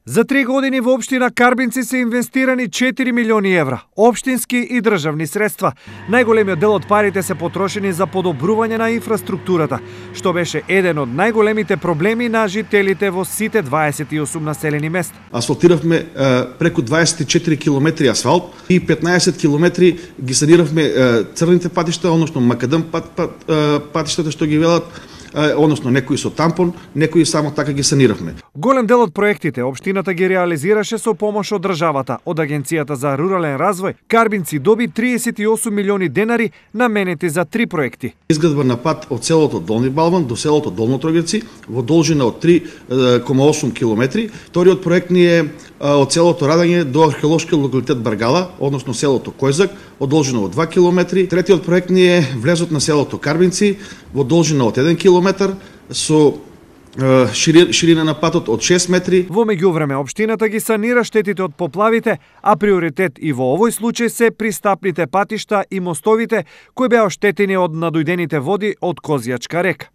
За 3 години во општина Карбинци се инвестирани 4 милиони евра, општински и државни средства. Најголемиот дел од парите се потрошени за подобрување на инфраструктурата, што беше еден од најголемите проблеми на жителите во сите 28 населени места. Асфалтиравме преку 24 километри асфалт и 15 километри ги саниравме црните патишта, односно макадам патиштата што ги велат, односно некои со тампон, некои само така ги саниравме. Голем дел од проектите општината ги реализираше со помош од државата. Од Агенцијата за рурален развој Карбинци доби 38 милиони денари наменети за 3 проекти. Изградба на пат од селото Долни Балван до селото Долно Трогевци во должина од 3,8 километри. Вториот проект ни е од селото Радање до археолошкиот локалитет Баргала, односно селото Којзак, од должина од 2 километри. Третиот проект ни е влезот на селото Карбинци во должина од 1 километар со ширина на патот од 6 метри. Во меѓувреме општината ги санира штетите од поплавите, а приоритет и во овој случај се пристапните патишта и мостовите кои беа оштетени од надојдените води од Козјачка река.